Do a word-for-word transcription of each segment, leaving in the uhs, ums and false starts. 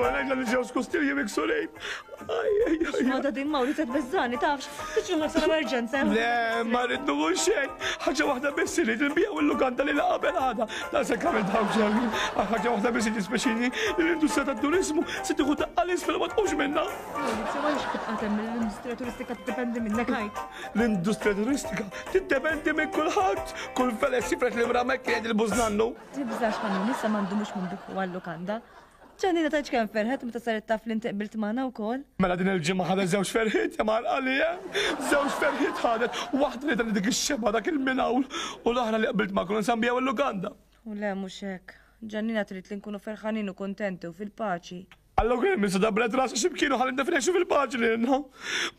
Għalajna li ġew skustilji miksurin. X'moda din Mawri se tbeżżani, tafx, tiġu sal emerġenza. Le, ma rrid nuhu xejn. Ħaġa waħda biss li nbiegħu il-lukanda li qabel għada. Dan se kamil daw ġewwi. Ħaġa waħda biss jispeċini li l-industrija tat-turiżmu se tieħu daqqa l-isfel ma tqumx minnha. Maurizio, ma nix tibqa' temm l-industrija turistika tiddependi minnek għajt. L-industrija turistika tiddependi minn kulħadd. Kull feles jifret li mramek jgħid il-bużnannu. Tibżax ħanun, issa m'għandu mhux minn biħu għal-lukanda. Ġannina tgħidx kemm ferħet meta saret taf li inti qbilt magħna wkoll. Mela din il-ġimgħa ħadet żewġ ferħiet ja marqali Żewġ ferħiet ħadet, waħda li dan dik ix-xebgħa dak il-minawl u l-oħra li qbilt magħkom nsambijaw il-lukanda. U le mhux hekk. Ġannina trid li nkunu ferħanin u kuntenti u fil-paċi. Allora kien minn dabret rasi x'imkienu ħalli nifrexu fil-paċi lilna.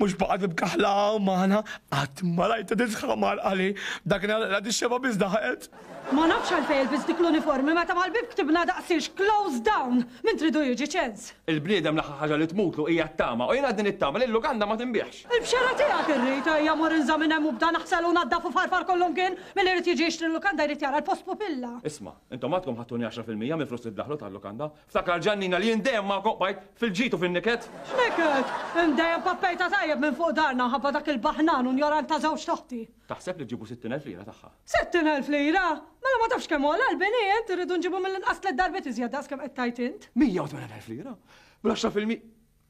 Mhux baqgħet ibkaħla magħna, qatt ma rajta tisħa marqali. Dak la ix-xebgħa biss daħqet. Ma nafx għalfejn ilbis dik l-uniformi meta mal-bib ktibna daqsiex close down. Min tridu jiġi ċens. Il-bniedem l-aħħar ħaġa li tmutlu hija t-tama u jiena din it-tama li l-lukanda ma tinbiegħx. Il-bxera tiegħek irrid ejja mur inża minn hemm u bda naħsel u naddaf u farfar kollu mkien milli jrid jiġi jixtri l-lukanda jrid jara l-post pupilla. Isma', intom għadkom ħattuni għaxra fil-mija mill-flus li ddaħlu tal-lukanda. Ftakar Ġannina li jien dejjem magħkom bajt fil-ġid u fin-niket. X'niket? Dejjem pappejta tajjeb minn fuq darna ħabba dak il-baħnan u njorant ta' żewġ toħti. Taħseb li ġibu sittin elf lira tagħha? Sittin elf lira? Mela ma tafx kemm għola l-bini int, irridu nġibu mill-inqas tliet darbiet iżjed daqs kemm qed tgħid int. Mija u tmenin elf lira? Bl-għaxra fil-mi.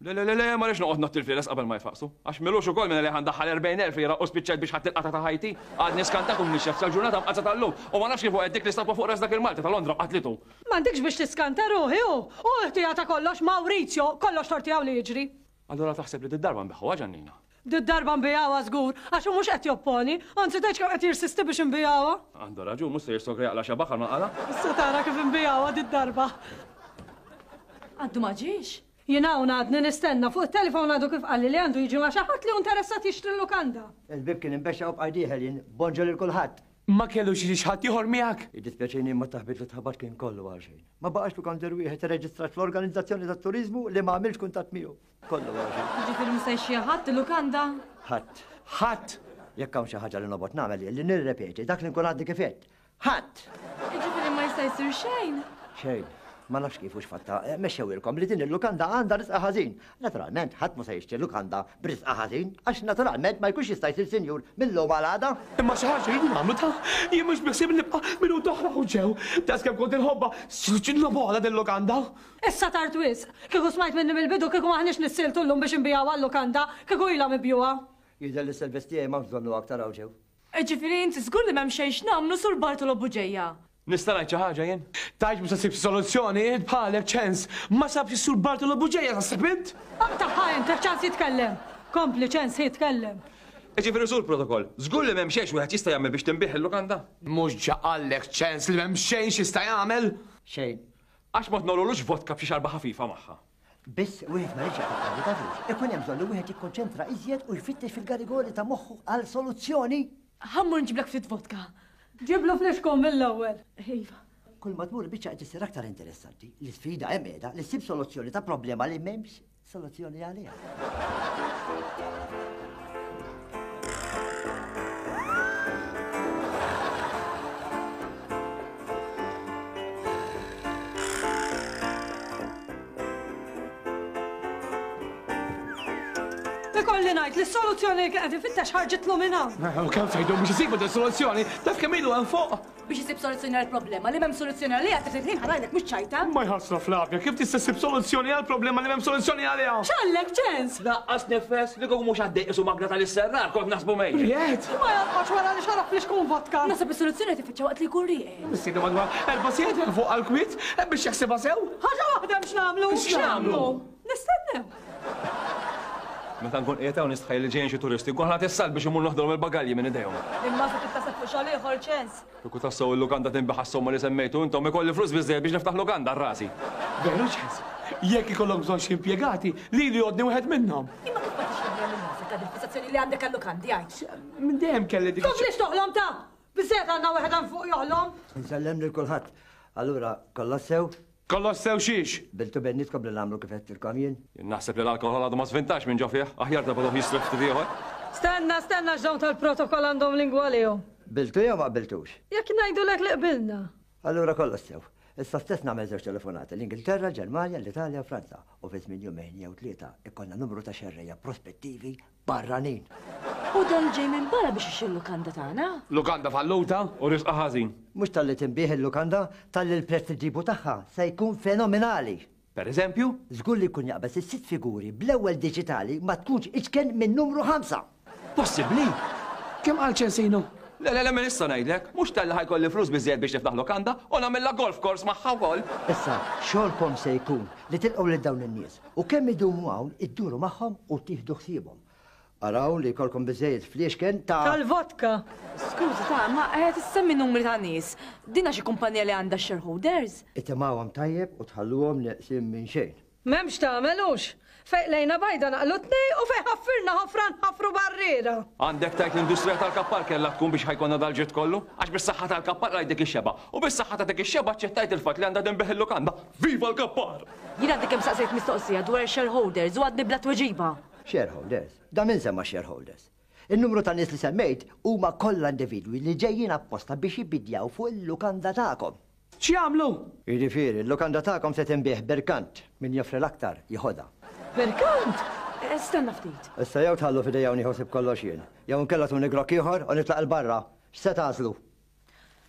Le, le, le, le, ma rridx noqgħod nagħti l-flieles qabel ma jfaqsu. Għax milux ukoll minn li ħandaħħal erbgħin elf lira u spiċċajt biex ħadd il-qata ta' ħajti. Għadni skantat u mnixxef sal-ġurnata mqazza tal-lum u ma nafx kif waqgħet dik l-istatwa fuq ras dak il-Malti ta' Londra qatlitu. M'għandikx biex tiskanta ruħi hu. U ħtija ta' kollox Maurizio, kollox torti hawn li jiġri. Allura taħseb li d-darba nbiħħuha Ġannina? Did-darba nbijawha żgur, għax hu mhux qed jopponi, anzi tgħidx kemm qed jirsisti biex nbijawha. Għandu raġun, mhux se jirsokra jaqla' xi baħar ma qala. Issa tara kif nbijawha did-darba. Għaddu ma ġiex? Jien hawn għadni nistenna fuq it-telefon għadu kif qalli li għandu jiġi ma' xi ħadd li hu interessat jixtri l-lukanda. Il-bib kien imbexxa u bqaj dieħel jien, bonġu lil kulħadd. Ma kellux xi ħadd ieħor miegħek? Jiddispjaċini imma t-taħbit li tħabat kien kollu għal xejn. Ma baqax lukandier wieħed irreġistrat fl-organizzazzjoni tat-turiżmu li ma għamilx kuntatt miegħu. Kollu għal xejn. Ġifieri mhux se jxi ħadd il-lukanda? Ħadd. Ħadd. Jekk hawn xi ħaġa li nobgħod nagħmel li nirrepeti dak li nkun għadni kif għedt. Ħadd. Ġifieri ma jista' jsir xejn. Xejn. Ma nafx kif hux fatta, mexxewilkom li din il-lukanda għandha risqa ħażin. Naturalment, ħadd ma se jixtri lukanda b'risqa ħażin, għax naturalment ma jkunx jista' jsir sinjur mill-lum għal għada. Imma xi ħaġa rridu nagħmlu ta' jien mhux biħsieb nibqa' minuta oħra u ġew. Daqs kemm kont inħobbha, x'nobgħodha din lukanda. Issa tard wisq. Kieku smajt minni mill-bidu kieku maħniex nissiltu llum biex nbigħu għal-lukanda, kieku ilha mibjuha. Jidher li s-servizz tiegħi m'hawnx bżonnu aktar hawn ġew. Ġifieri inti żgur li m'hemm xejn x'nagħmlu sur Bartolo Buġeja. Nista' ngħid xi ħaġa jien? Tgħidx mhux se ssib soluzzjoni, int bħalek ċens. Ma sabx is-sur Bartolo Buġeja taħseb int? Aqtaħħa int, ċans jitkellem. Kompli ċens jitkellem. Ġifieri sur protokoll, żgur li m'hemm xejn wieħed jista' jagħmel biex tinbih il-lukanda? Mhux ġa qallek ċens li m'hemm xejn x'jista' jagħmel? Xejn. Għax ma tnolulux vodka b'xi xarba ħafifa magħha. Biss wieħed ma jridx jaqta' tafux. Ikun hemm bżonn li wieħed jikkonċentra iżjed u jfittex fil-garigori ta' moħħu għal soluzzjoni. Ħammur nġiblek ftit vodka. Ġiblu flixkun mill-ewwel. Iva. Kull ma tmur biċċa qed issir aktar interessanti. L-isfida hemm qiegħda li ssib soluzzjoni ta' problema li m'hemmx soluzzjoni għaliha. Ikolli ngħid li s-soluzzjoni li kien qed ifittex ħarġitlu minn hawn. U kemm se jdum biex isibu din soluzzjoni, taf kemm ilu hemm fuq. Biex isib soluzzjoni għal problema li m'hemm soluzzjoni għaliha trid ħin ħarajlek mhux ċajta. Ma jħassra Flavia, kif tista' ssib soluzzjoni għal problema li m'hemm soluzzjoni għaliha? X'għallek ċens? Laqqas nifes li kieku mhux għaddej qisu magna tal-isserrar kont naħsbu mejjet. Ried! Ma jonqodx wara li xarab flixkun vodka. Naħseb is-soluzzjoni tifittxa waqt li jkun rieqed. Mistiedna madwar erba' sigħat hemm fuq għall-kwiet biex jaħsibha sew. Ħaġa waħda hemm x'nagħmlu. X'nagħmlu? Nistennew. Meta nkun qiegħed hawn nistħajjel li ġejjin xi turisti, nkun ħadd issal biex imur noħdolhom il-bagalji minn idejhom. Imma se tittasab fuq xogħol ieħor ċens. Kieku tassew il-lukanda tinbiħ għas-somma li semmejtu intom ikolli flus biżżejjed biex niftaħ lukanda r-rasi. Veru ċens. Jekk ikollok bżonn xi impjegati, lili jgħodni wieħed minnhom. Imma kif ma tixtieq minn nafek għad il-fissazzjoni li għandek għal-lukandi għajt? Minn dejjem kelli dik. Komplix toħlom ta' biżżejjed għandna wieħed hemm fuq joħlom. Insellem lil kulħadd. Allura, kollox sew? Kollox sew xiex? Biltu bennitkom li nagħmlu kif għedtilkom jien? Jien naħseb li l-alkohol għadu ma svintax minn ġo fih, aħjar ta' baduh jisref ftit ieħor. Stenna, stenna x'dawn tal-protokoll għandhom lingwa lihom. Biltu jew ma qbiltux? Jekk ngħidulek li qbilna. Allura kollox sew. Issa stess nagħmel żewġ telefonati, l-Ingilterra, l-Ġermanja, l-Italja u Franza. U fi żmien jumejn jew tlieta ikollna numru ta' xerrejja prospettivi barranin. U dan ġej minn barra biex ixxi l-lukanda tagħna? Lukanda falluta u risqa ħażin. Mhux talli tinbih il-lukanda, talli l-prezz li ġibu tagħha se jkun fenomenali. Per eżempju? Żgur li jkun jaqbeż is-sitt figuri bl-ewwel diġitali ma tkunx iċken minn numru ħamsa. Possibbli? Kemm qal Ċensino? Le, le, le, minn issa ngħidlek, mhux talli ħajkolli flus biżżejjed biex niftaħ lukanda u nagħmilha golf course magħha wkoll. Issa, xogħolkom se jkun li tilqgħu lil dawn in-nies u kemm idumu hawn idduru magħhom u tieħdu ħsiebhom. Araw li jkollkom biżżejjed fliexken ta' Tal-vodka. Skużi ta' ma qed issemmi numri ta' nies. Dina xi kumpanija li għandha shareholders? Itimgħuhom tajjeb u tħalluhom neqsin minn xejn. M'hemmx tagħmelux. Fejn lejna bajda naqlu tnej u fejn ħaffirna ħofra nħaffru barriera. Għandek tajt l-industrija tal-kappar kellha tkun biex ħajkonna dal-ġid kollu? Għax bis-saħħa tal-kappar rajt dik ix-xeba. U bis-saħħa ta' dik ix-xeba aċċettajt il-fatt li għandha tinbih il-lukanda. Viva l-kappar! Jien għadni kemm saqsejt mistoqsija dwar shareholders u għadni bla tweġiba. Shareholders? Da min semma shareholders? Il-numru ta' nies li semmejt huma kollha individwi li ġejjin apposta biex jibidjaw fuq il-lukanda tagħkom. X'jagħmlu? Jiġifieri, il-lukanda tagħkom se tinbih berkant, min joffri l-aktar jeħodha. Berkant? Stenna ftit. Issa jew tħallu f'idejja u nieħu ħsieb kollox jien, jew inkella tuni grokk ieħor u nitlaq 'il barra. X'se tagħżlu?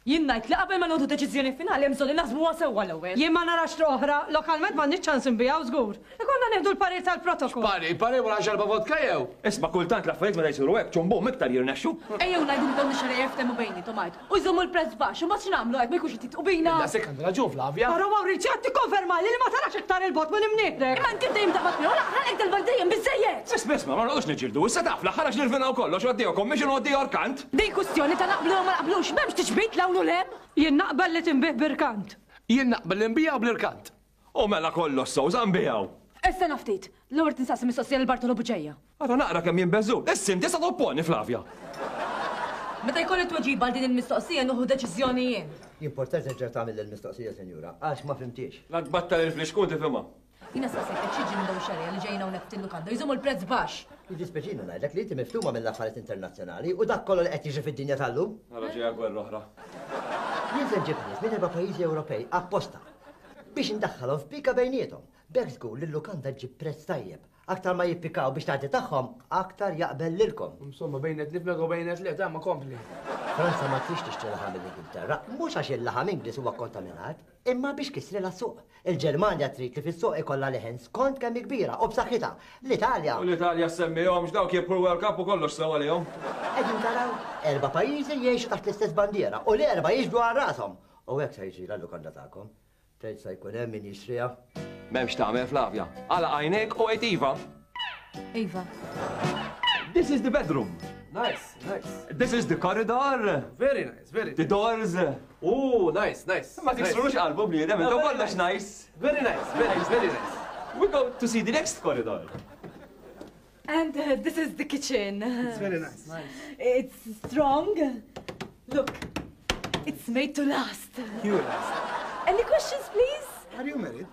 Jien ngħid li qabel ma nieħdu deċiżjoni finali hemm bżonn li naħsbuha sewwa l-ewwel. Jien ma narax triq oħra, lokalment m'għandniex ċans inbiegħu żgur. Ikollna nieħdu l-parir tal-protokoll. Parir, parir wara xarba vodka jew? Isma' kultant l-affarijiet meta jsiru hekk ċumbum iktar jirnexxu. Ejjew ngħidu li dawn ix-xerejja jiftehmu bejniethom għid. U jżommu l-prezz baxx u mbagħad x'nagħmlu hekk ma jkunx qed jitqu bina. Daqshekk għandha raġun Flavia. Però Maurizio qed tikkonfermali li ma tarax iktar il-bogħod minn imnieħrek. Imma inti dejjem taqbad miegħu ħalqek dal-bogħod dejjem biżżejjed. Isma' isma' ma noqgħodux niġġieldu, issa taf l-aħħar għax nirvinaw kollox u għaddejja commission u għaddejja orkant. Din kwistjoni ta' naqblu jew ma naqblux, m'hemmx tiġbid l hawn u l hemm. Jien naqbel li tinbih birkant. Jien naqbel li nbiegħu bl-irkant. U mela kollox sew sa nbiegħu. Issa naftit, l-ewwel tinsaqsi mistoqsija lil Bartolo Buġeja. Ara naqra kemm jinbeżu. Issa inti sa topponi Flavia. Meta jkolli tweġiba għal din il-mistoqsija nieħu deċiżjoni jien. Importanti terġa' tagħmel il-mistoqsija, sinjura, għax ma fimtiex. La tbattal il-flixkun tifhimha. Jiena saqsejtek xi minn dawn ix-xerrejja li ġejjin hawnhekk f'til-lukanda jżommu l-prezz baxx. Jiddispjaċini ngħidlek li inti miftuma mill-affarijiet internazzjonali u dak kollu li qed jiġri fid-dinja tal-lum. Ara ġejja gwerra oħra. Jien se nġib nies minn erba' pajjiżi Ewropej apposta biex indaħħalhom f'pika bejniethom. B'hekk żgur li l-lukanda ġġib prezz tajjeb. Aktar ma jippikaw biex tagħti tagħhom, aktar jaqbel lilkom. Insomma, bejnet nifmek u bejnet le, ta' ma kompli. Franza ma trix tixtri laħam mill-Ingilterra, mhux għax il-laħam Ingliż huwa kontaminat, imma biex kisrilha s-suq. Il-Ġermanja trid li fis-suq ikollha leħen skont kemm hi kbira u b'saħħitha. L-Italja. U l-Italja semmihomx dawk jibħu l-World Cup u kollox sew għalihom. Qegħdin taraw erba' pajjiżi jgħixu taħt l-istess bandiera u l-erba' jiġbdu għal rashom. U hekk se jiġri l-lukanda tagħkom. Tgħid se jkun hemm min jixtriha. M'hemmx tagħmel Flavia. Għalaq għajnejk u għid iva. Iva. This is the bedroom. Nice, nice. This is the corridor. Very nice, very The doors. Oh, nice, nice. Ma tiksrux qalbu bniedem, intom kollox nice. Very nice, very, very nice. We go to see the next corridor. And uh, this is the kitchen. It's very nice. It's strong. Look, it's made to last. You last. Any questions, please? Are you married?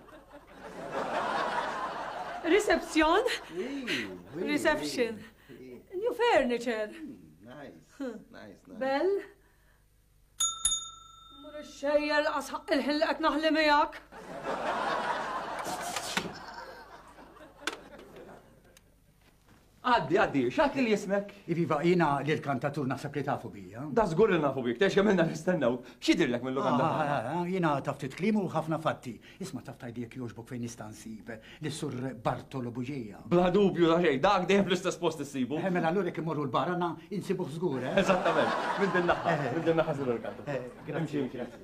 Reception. Oui, oui, Reception. oui. New furniture. Nice, nice, nice. Bell. Mur ix-xejjer laqas ħaqq il-ħin li qed naħli miegħek. Għaddi, għaddi, x'għad li jismek? Iviva, jiena li l-kantatur naħseb li tafu bija. Da żgur li nafu bik, tex kemm ilna nistennew. X'jidirlek mill-lukanda? Ah, ah, ah, Jiena taf ftit kliem u ħafna fatti. Isma' taf tgħidli jekk jogħġbok fejn nista' nsib lis-sur Bartolo Buġeja. Bla dubju ta' xejn, dak dejjem fl-istess post issibu. Eh, Mela allura jekk imorru l-barana insibuh żgur, eh? Eżattament, minn din naħa, minn din naħa sur il-kantatur. Eh, Grazzi, grazzi.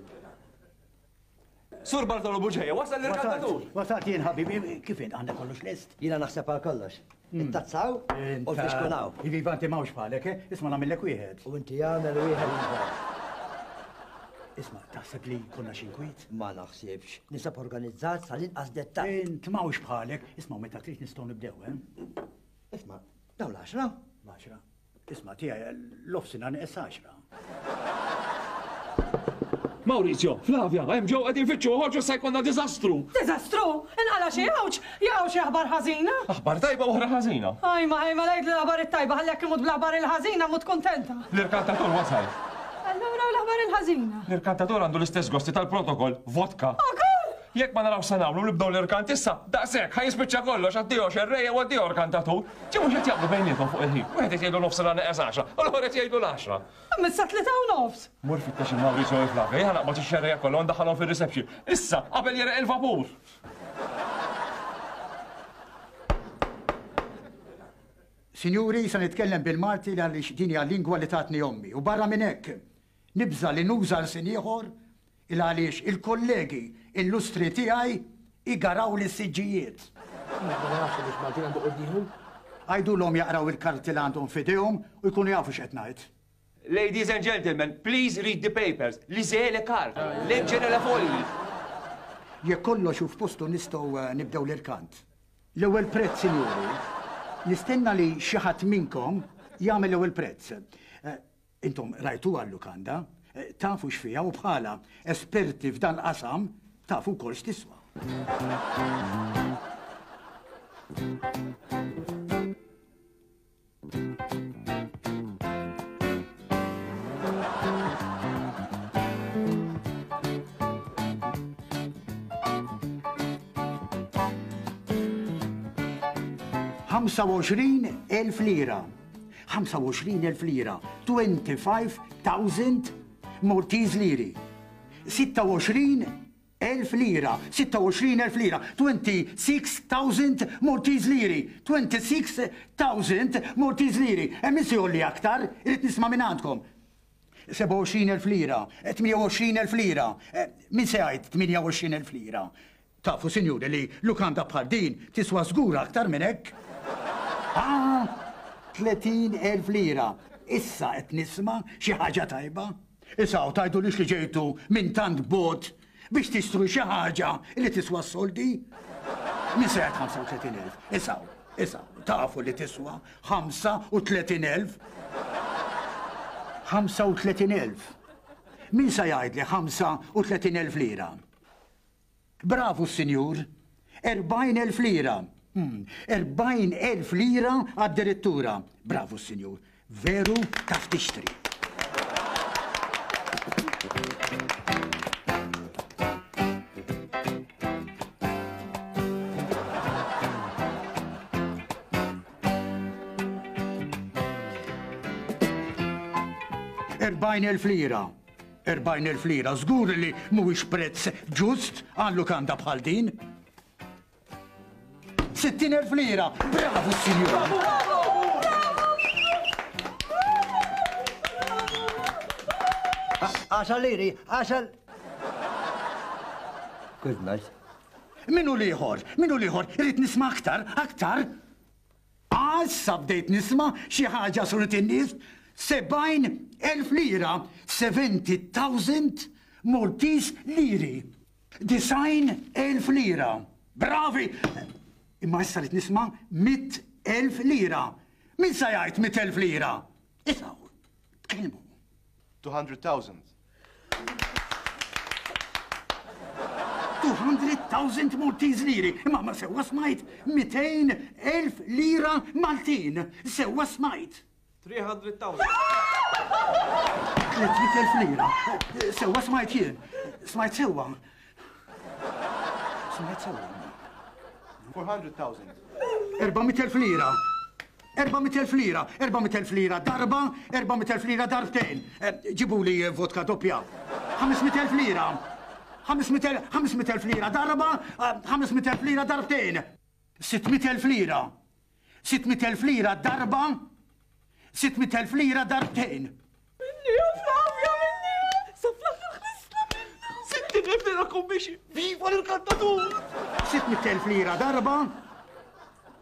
Sur Bartolo Buġeja, wasal l-kantatur. Wasalt jien ħabibi, kif int għandek kollox lest? Jiena naħseb għal kollox. Ittazzaw u l-fixkunaw. Iviva, inti m'hawnx bħalek, eh? Isma' nagħmillek wieħed. U inti jagħmel wieħed. Isma' taħseb li konna xi nkwiet? Ma naħsibx. Nisab organizzat sal-inqas dettal. Int m'hawnx bħalek. Isma' meta trid nistgħu nibdew, eh? Isma' dawn l-għaxra? L-għaxra. Isma' tiegħi l-ofsina nieqes għaxra. Maurizio, Flavia, hemm ġew qegħdin fittxu ħorġu se jkollna diżastru. Diżastru? Inqala xi għawġ, jaqgħu xi aħbar ħażina. Aħbar tajba u oħra ħażina. Ajma, ajma, ngħid l-aħbar it-tajba ħalli jekk imut bl-aħbar il-ħażina mut kuntenta. L-irkantatur wasal. Allura u l-aħbar il-ħażina. L-irkantatur għandu l-istess gosti tal-protokoll, vodka. Ukoll! Jekk ma naraw se nagħmlu nibdew l-irkant issa, daqshekk ħa jispiċċa kollox addio xerrejja u addio irkantatur. Ġi mhux qed jaqblu bejniethom fuq il-ħin. Wieħed qed jgħidu nofs neqes għaxra, u l-ieħor qed jgħidu l-għaxra. Issa tlieta u nofs. Mur fittex il-Maurizio u Flavia, jien naqbad ix-xerrejja kollha u ndaħħalhom fir-reception. Issa, qabel jereq il-vapur. Sinjuri, se nitkellem bil-Malti għaliex din hija lingwa li tatni ommi. U barra minn hekk, nibża li nuża lsien ieħor il għaliex il-kollegi illustri tiegħi igaraw li s-siġġijiet. Ma nafx biex Maltin għandu quddiehom. Għidulhom jaqraw il-karti li għandhom f'idejhom u jkunu jafu x'qed ngħid. Ladies and gentlemen, please read the papers. Lisez le carte, leggere la fogli. Jekk kollox hu f'postu nistgħu nibdew l-irkant. L-ewwel prezz, sinjuri, nistenna li xi ħadd minnkom jagħmel l-ewwel prezz. Intom rajtuha l-lukanda, tafu x'fiha u bħala esperti f'dan qasam tafu wkoll x'tiswa. ħamsa u għoxrin elf lira. ħamsa u għoxrin elf lira. twenty-five thousand Maltese liri. Sitta u għoxrin elf lira. Sitta u għoxrin elf lira. twenty-six thousand Maltese liri. twenty-six thousand Maltese liri. Hemm min se jgħolli aktar, irid nisma' minn għandkom. Seba' u għoxrin elf lira, tmija u għoxrin elf lira. Min se jgħid tmija u għoxrin elf lira? Tafu, sinjuri, li lukanda bħal din tiswa żgur aktar minn hekk. Ah, tletin elf lira. Issa qed nisma' xi ħaġa tajba. Issa u tgħidulix li ġejtu minn tant bot biex tixtru xi ħaġa li tiswa s-soldi? Min se jgħid ħamsa u tletin elf? Issa, issa, tafu li tiswa ħamsa u tletin elf. ħamsa u tletin elf. Min se jgħidli ħamsa u tletin elf lira? Bravu, sinjur. Erbgħin elf lira. Erbgħin elf lira għad-direttura. Bravu, sinjur. Veru taf tixtri. Erbgħin elf lira. Erbgħin elf lira. Żgur li mhuwiex prezz ġust għal lukanda bħal din. Sittin elf lira. Bravu, sinjur. Għaxar liri, għaxar. Good night. Min hu l-ieħor? Min hu l-ieħor? Irrid nisma' aktar, aktar. Issa bdejt nisma' xi ħaġa suret in-nies. Sebgħin elf lira, seventy thousand Maltese liri. Disgħin elf lira. Bravi! Imma issa rrid nisma' mitt elf lira. Min se jgħid mitt elf lira? Issa, tkellmu. two hundred thousand. two hundred thousand Maltese liri. Imma ma sewwa smajt mitejn elf lira Maltin. Sewwa smajt. three hundred thousand. Tliet mitt elf lira. Sewwa smajt jien. Smajt sewwa. Smajt sewwa. four hundred thousand. Erba' mitt elf lira. Erba' mitt elf lira. Erba' mitt elf lira darba, erba' mitt elf lira darbtejn. Ġibu li vodka doppja. Ħames mitt elf lira. Ħames mitt elf, ħames mitt elf lira darba, ħames mitt elf lira darbtejn. Sitt mitt elf lira. Sitt mitt elf lira darba, sitt mitt elf lira darbtejn. Minni, ja Flavia, minni! Sa fl-aħħar ħlisna minna! Sittin elf lira kummixi! Viva l-kantatur! Sitt mitt elf lira darba,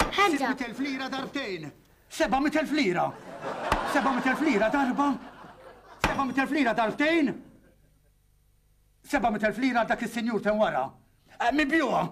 Ħamsa. sitt mitt elf lira darbtejn. Seba' mitt elf lira. Seba' mitt elf lira darba, seba' mitt elf lira darbtejn. Seba' mitt elf lira dak is-sinjur ten wara. Mibjuha!